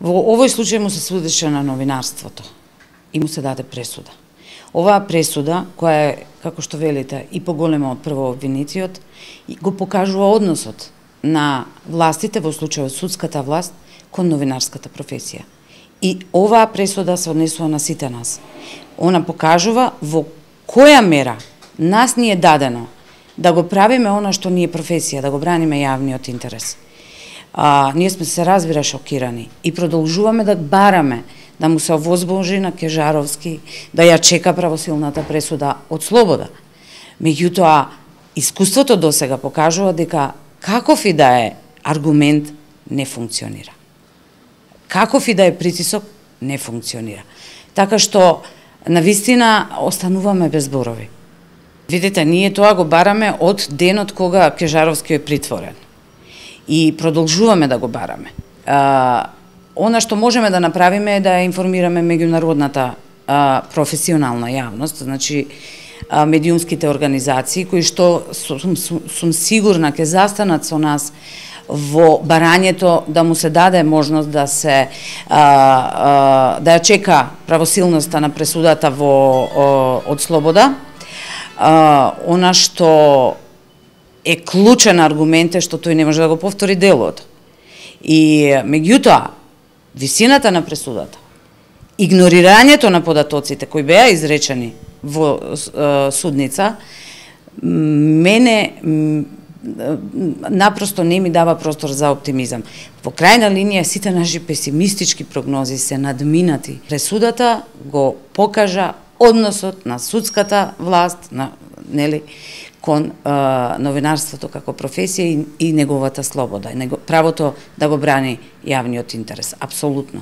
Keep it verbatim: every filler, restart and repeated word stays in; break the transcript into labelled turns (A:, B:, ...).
A: Во овој случај му се судеше на новинарството и му се даде пресуда. Оваа пресуда, која е, како што велите, и поголема од првообвинетиот, го покажува односот на властите, во случајот судската власт, кон новинарската професија. И оваа пресуда се однесува на сите нас. Она покажува во која мера нас ни е дадено да го правиме она што ни е професија, да го браниме јавниот интерес. А, ние сме се разбира шокирани и продолжуваме да бараме да му се овозможи на Кежаровски да ја чека правосилната пресуда од слобода. Меѓутоа, искуството досега покажува дека каков и да е аргумент не функционира. Каков и да е притисок не функционира. Така што, навистина, остануваме без зборови. Видите, ние тоа го бараме од денот кога Кежаровски е притворен. И продолжуваме да го бараме. А, она што можеме да направиме е да информираме меѓународната а, професионална јавност, значи а, медиумските организации кои што сум, сум, сум сигурна ќе застанат со нас во барањето да му се даде можност да се а, а, да ја чека правосилноста на пресудата во о, од слобода. А, она што е клучен аргумент е што тој не може да го повтори делото. И меѓутоа, висината на пресудата, игнорирањето на податоците кои беа изречени во е, судница, мене напросто не ми дава простор за оптимизам. Во крајна линија сите наши песимистички прогнози се надминати. Пресудата го покажа односот на судската власт, на, нели, кон а, новинарството како професија и, и неговата слобода, и него, правото да го брани јавниот интерес. Апсолутно.